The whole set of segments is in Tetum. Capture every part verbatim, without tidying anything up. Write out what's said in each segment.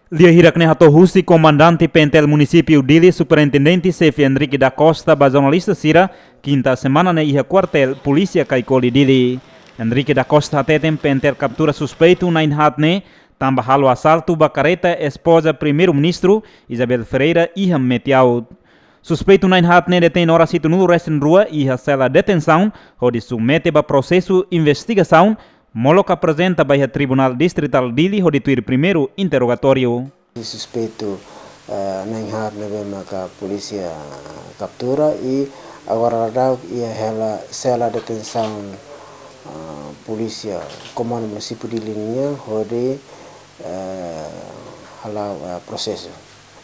Lia hirak ne'e hato'o husi Komandante PNTL Munisípiu Dili, Superintendente Xefe Henrique da Costa, ba jornalista sira, kinta semana ne'e iha kuartél Polísia Caicoli Dili. Henrique da Costa hateten PNTL kaptura suspeitu na'in-haat ne'e tanba halo asaltu ba kareta espoza Primeiru-Ministru, Isabel Ferreira, iha Metiaut. Suspeitu na'in-haat ne'e detein oras hitunulu-resin-rua iha sela detensaun, hodi submete ba prosesu investigasaun, molok aprezenta ba iha Tribunál Distritál Dili hodi tuir primeiru interrogatóriu. Suspeitu, eh, na'in-haat ne'ebé maka polísia kaptura i agora daudaun iha hela sela detensaun, eh, polísia Komandu Munisípiu Dili nian hodi, eh, hala'o, eh, prosesu.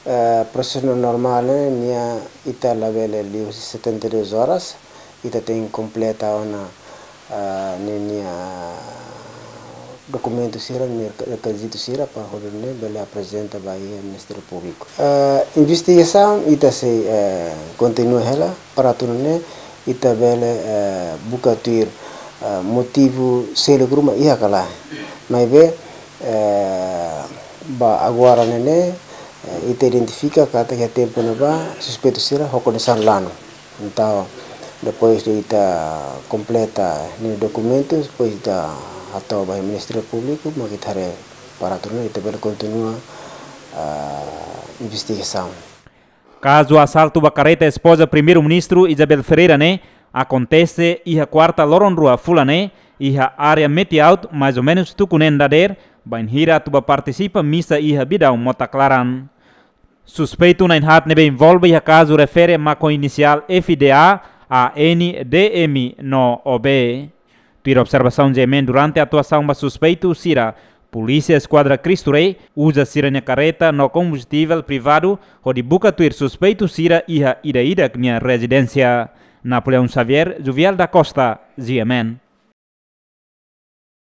Eh, prosesu normál ne'e nia ita labele liu setenta e duas horas, ita tenke kompleta ona, eh, ninia dokumentu sira, ninia rekizitu sira, para hodi nune'e bele aprezenta ba iha Ministériu Públiku. Eh, investigasaun ita sei, eh, kontinua hela, para atu nune'e ita bele, eh, buka tuir, eh, motivu seluk ruma iha ka lae. Maibé, eh, ba agora ne'e ne'e, eh, ita identifika katak iha tempu ne'ebá suspeitu sira ho kondisaun lanu. Entaun, depois de ita kompleta ninia dokumentu, depois ita hato'o ba Ministériu Públiku, mak ita haree para atu nune'e ita bele kontinua, ah, investigasaun. Kazu asaltu ba kareta espoza Primeiru-Ministru Isabel Ferreira ne'e akontese iha kuarta loron rua fulan ne'e, iha área Metiaut, mais ou menus tuku neen dadeer, bainhira atu ba partisipa misa iha bidaun Mota Klaran. Suspeitu na'in-haat ne'ebé envolve iha kazu refere mak ho inisiál F D A, A N, D M no O B. Tuir observasaun GMN, durante atuasaun ba suspeitu sira, Polísia Eskuadra Cristo Rei uza sira-nia kareta no kombustivel privadu hodi buka tuir suspeitu sira iha ida-idak nia rezidénsia. Napoleão Xavier, Juvial da Costa, GMN.